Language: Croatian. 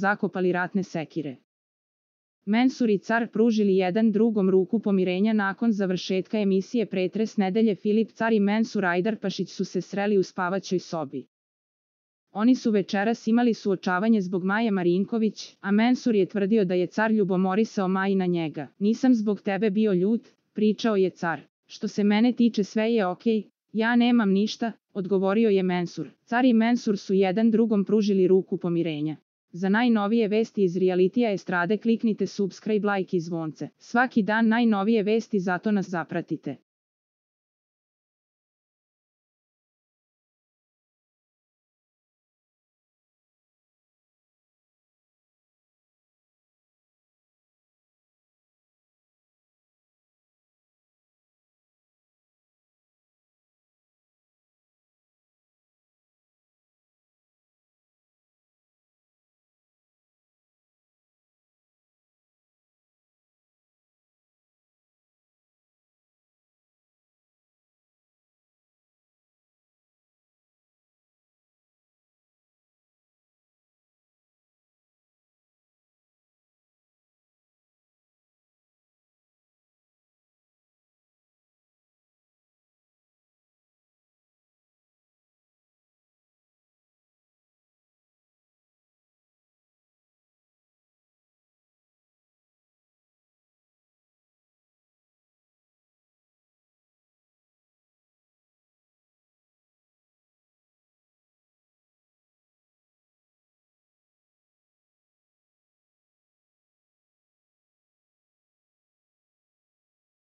zakopali ratne sekire. Mensur i car pružili jedan drugom ruku pomirenja nakon završetka emisije Pretres nedelje. Filip Car i Mensur Ajdarpašić su se sreli u spavaćoj sobi. Oni su večeras imali suočavanje zbog Maje Marinković, a Mensur je tvrdio da je car ljubomorisao Maji na njega. Nisam zbog tebe bio ljut, pričao je car. Što se mene tiče sve je okej, ja nemam ništa, odgovorio je Mensur. Car i Mensur su jedan drugom pružili ruku pomirenja. Za najnovije vesti iz realitija estrade kliknite subscribe, like i zvonce. Svaki dan najnovije vesti, zato nas zapratite.